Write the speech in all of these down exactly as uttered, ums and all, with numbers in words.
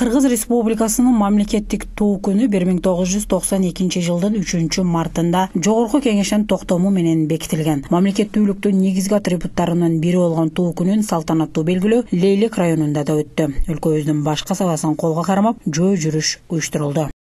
Кыргыз Республикасынын мамлекеттик туу күнү бир миң тогуз жүз токсон экинчи жылдын үчүнчү мартында Жогорку Кеңештин токтому менен бекитилген. Мамлекеттүүлүктүн негизги атрибуттарынын бири болгон туу күнүн салтанаттуу белгилөө Лейлек районунда да өттү. Өлкөбүздүн баш касабасын колго кармап, жөө жүрүш уюштурулду.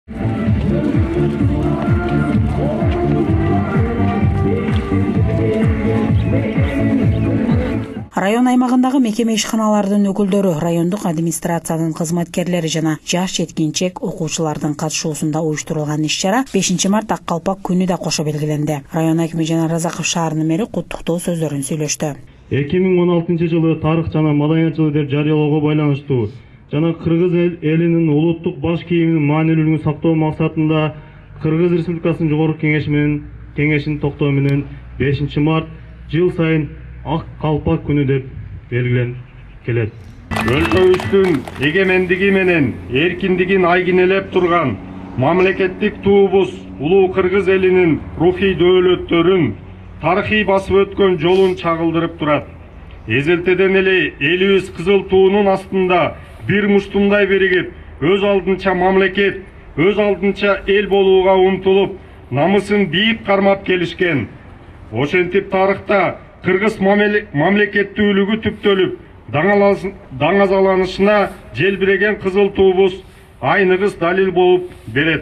Район аймагындагы мекеме ишканалардын өкүлдөрү, райондук администрациянын кызматкерлери жана жаш жеткинчек окуучулардын катышуусунда уюштурулган иш-чара бешинчи март Ак калпак күнү да кошо белгиленди. Район акими Жанар Разаков шаарынын мэри куттуктоо сөздөрүн сүйлөштү. эки миң он алтынчы жылы тарых жана маданият жылы деп жарыялоого байланыштуу жана кыргыз элинин улуттук баш кийиминин маанилүүлүгүн сактоо максатында Кыргыз Республикасынын Жогорку Кеңеши менен Кеңештин токтому менен бешинчи март жыл сайын Ак калпак күнү деп белгиленип келет. Өлкөбүздүн эгемендиги менен эркиндигин айгинелеп турган мамлекеттик туубуз улуу кыргыз элинин рухий дөөлөттөрүн, тарыхый басып өткөн жолун чагылдырып турат. Эзелтеден эле элибиз кызыл туунун астында бир муштумдай биригип, өз алдынча мамлекет, өз алдынча эл болууга умтулуп, намысын бийик кармап келишкен. Ошентип тарыхта кыргыз мамлекеттүүлүгү түптөлүп, даңазаланышына желбиреген кызыл туубуз айныгыс далил болуп берет.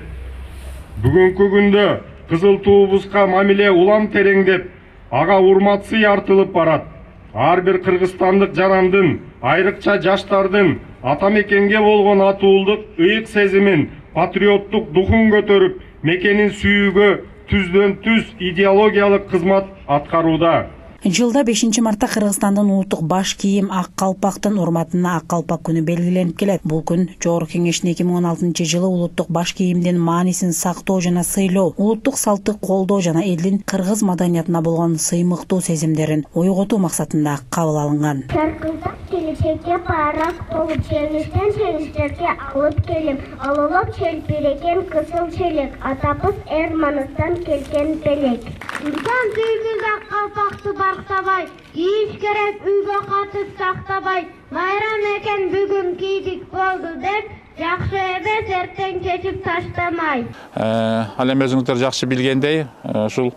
Бүгүнкү күндө кызыл туубузга мамиле улам тереңдеп, ага урмат сый артылып барат. Ар бир кыргызстандык жарандын, айрыкча жаштардын ата мекенге болгон атуулдук ыйык сезимин, патриоттук духун көтөрүп, мекенин сүйүүгө түздөн түз идеологиялык кызмат аткарууда. Жылда бешинчи мартта Кыргызстандын улуттук баш кийим Ак калпактын урматына Ак калпак күнү белгиленип келет. Бул күн Жогорку Кеңештин эки миң он алтынчы жылы улуттук баш кийимдин маанисин сактоо жана сыйлоо, улуттук салтты колдоо жана элдин кыргыз маданиятына болгон сыймыктуу сезимдерин ойготуу максатында кабыл алынган. Саркылдап келечекке парак болуп, жеңиштен жеңиштерге алып келип, алуулап челпиреген кызыл челек, атабыз Эрманыстан келген белек. Инсан сүйгүз Ак калпакты бактабай, кийиш керек үйгө катып сактабай, майрам экен бүгүн кийдик болду деп, жакшы эмес эртең чечип таштамай. Ал эми өзүңүздөр жакшы билгендей, ушул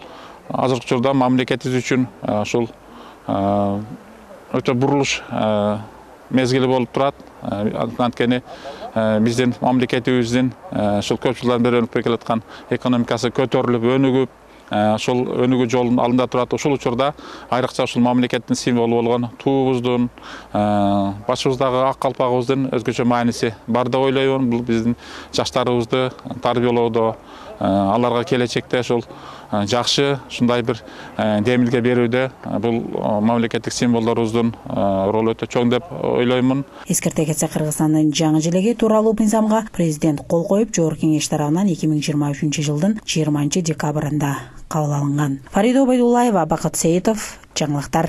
азыркы учурда мамлекетибиз үчүн ушул өтө бурулуш мезгили болуп турат. Анткени биздин мамлекетибиздин ушул көп жылдан бери өнүгүп келаткан экономикасы көтөрүлүп, өнүгүп, ошол өнүгүү жолунун алдында турат. Ушул учурда айрыкча ушул мамлекеттин символу болгон туубуздун, башыбыздагы ак калпагыбыздын өзгөчө мааниси бар деп ойлоймун. Бул биздин жаштарыбызды тарбиялоодо, аларга келечекте ошол жакшы ушундай бир демилге берүүдө бул мамлекеттик символдорубуздун ролу өтө чоң деп ойлоймун. Эскерте кетсе, Кыргызстандын жаңы желеги тууралуу мыйзамга президент кол коюп, Жогорку Кеңеш тарабынан эки миң жыйырма үчүнчү жылдын жыйырманчы декабрында кабыл алынган. Фарида Обайдуллаева, Бакыт Сейитов, жаңылыктар.